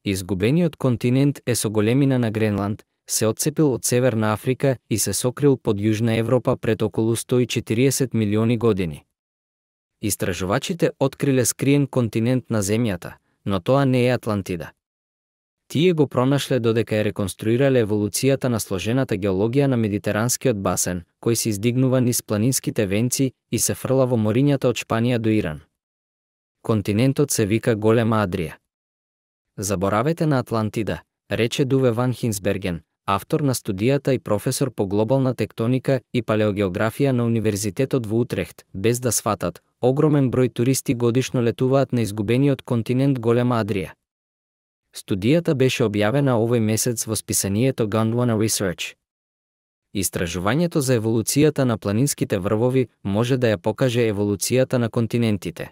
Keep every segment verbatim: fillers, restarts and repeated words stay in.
Изгубениот континент е со големина на Гренланд, се отцепил од Северна Африка и се сокрил под Јужна Европа пред околу сто и четириесет милиони години. Истражувачите откриле скриен континент на Земјата, но тоа не е Атлантида. Тие го пронашле додека е реконструирале еволуцијата на сложената геологија на Медитеранскиот басен, кој се издигнува низ планинските венци и се фрла во морињата од Шпанија до Иран. Континентот се вика Голема Адрија. Заборавете на Атлантида, рече Дуве ван Хинсберген, автор на студијата и професор по глобална тектоника и палеогеографија на Универзитетот во Утрехт, без да сватат, огромен број туристи годишно летуваат на изгубениот континент Голема Адрија. Студијата беше објавена овој месец во списанието Gondwana Research. Истражувањето за еволуцијата на планинските врвови може да ја покаже еволуцијата на континентите.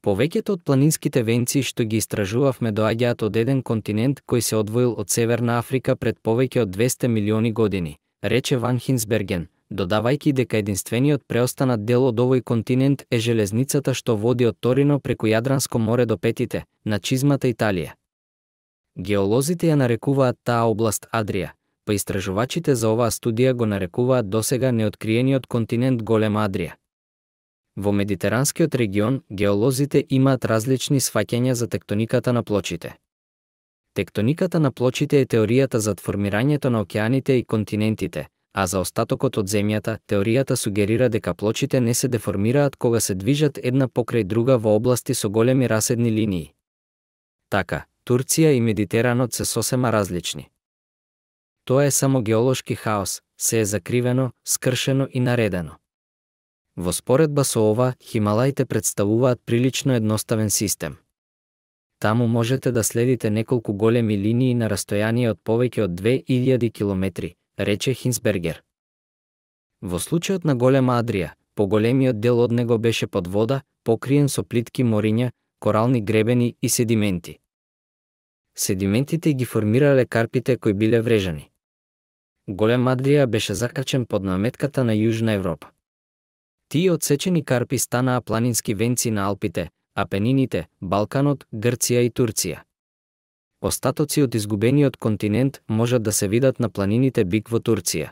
Повеќето од планинските венци што ги истражувавме доаѓаат од еден континент кој се одвоил од Северна Африка пред повеќе од двесте милиони години, рече ван Хинсберген, додавајќи дека единствениот преостанат дел од овој континент е железницата што води од Торино преку Јадранско море до Петите, на чизмата Италија. Геолозите ја нарекуваат таа област Адрија, па истражувачите за оваа студија го нарекуваат досега неоткриениот континент Голема Адрија. Во Медитеранскиот регион, геолозите имаат различни сваќања за тектониката на плочите. Тектониката на плочите е теоријата за формирањето на океаните и континентите, а за остатокот од земјата, теоријата сугерира дека плочите не се деформираат кога се движат една покрај друга во области со големи раседни линии. Така, Турција и Медитеранот се сосема различни. Тоа е само геолошки хаос, се е закривено, скршено и наредено. Во споредба со ова, Хималаите представуваат прилично едноставен систем. Таму можете да следите неколку големи линии на растојание од повеќе од две илјади километри, рече Хинсбергер. Во случајот на Голема Адрија, поголемиот дел од него беше под вода, покриен со плитки мориња, корални гребени и седименти. Седиментите ги формирале карпите кои биле врежани. Голема Адрија беше закачен под наметката на Јужна Европа. Тие отсечени карпи станаа планински венци на Алпите, Апенините, Балканот, Грција и Турција. Остатоци од изгубениот континент можат да се видат на планините Бик во Турција.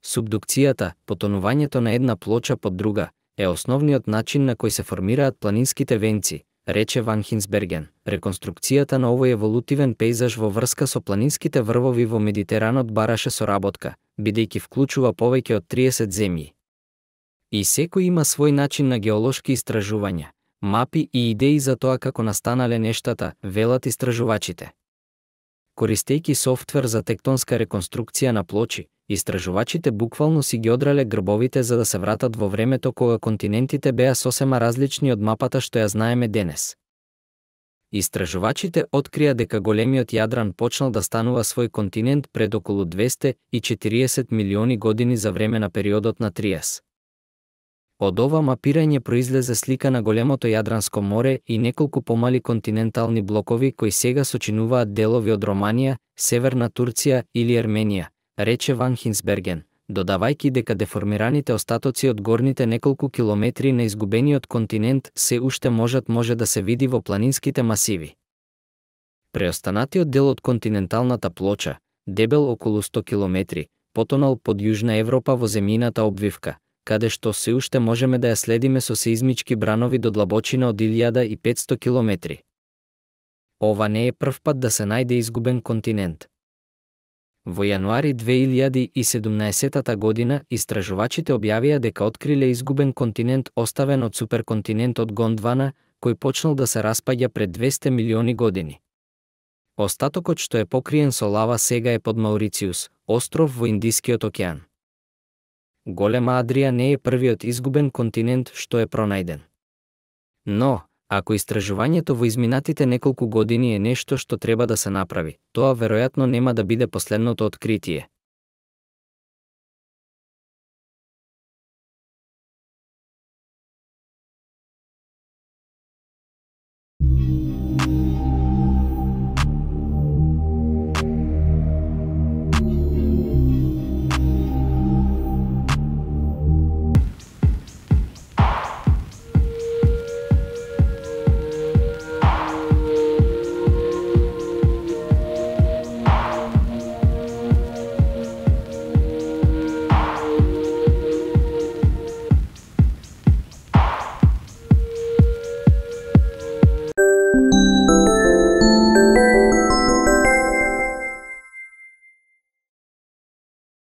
Субдукцијата, потонувањето на една плоча под друга, е основниот начин на кој се формираат планинските венци, рече ван Хинсберген. Реконструкцијата на овој еволутивен пејзаж во врска со планинските врвови во Медитеранот бараше соработка, бидејќи вклучува повеќе од триесет земји. И секој има свој начин на геолошки истражувања, мапи и идеи за тоа како настанале нештата, велат истражувачите. Користејќи софтвер за тектонска реконструкција на плочи, истражувачите буквално си ги одрале грбовите за да се вратат во времето кога континентите беа сосема различни од мапата што ја знаеме денес. Истражувачите открија дека големиот Јадран почнал да станува свој континент пред околу двесте и четириесет милиони години за време на периодот на Триас. Од ова мапирање произлезе слика на големото Јадранско море и неколку помали континентални блокови кои сега сочинуваат делови од Романија, Северна Турција или Ерменија, рече ван Хинсберген, додавајќи дека деформираните остатоци од горните неколку километри на изгубениот континент се уште можат може да се види во планинските масиви. Преостанатиот дел од континенталната плоча, дебел околу сто километри, потонал под Јужна Европа во земјината обвивка, каде што се уште можеме да ја следиме со сеизмички бранови до длабочина од илјада и петсто километри. Ова не е прв пат да се најде изгубен континент. Во јануари две илјади и седумнаесетта година истражувачите објавија дека откриле изгубен континент оставен од суперконтинентот Гондвана, кој почнал да се распаѓа пред двесте милиони години. Остатокот што е покриен со лава сега е под Маурициус, остров во Индискиот океан. Голема Адрија не е првиот изгубен континент што е пронајден. Но, ако истражувањето во изминатите неколку години е нешто што треба да се направи, тоа веројатно нема да биде последното откритие.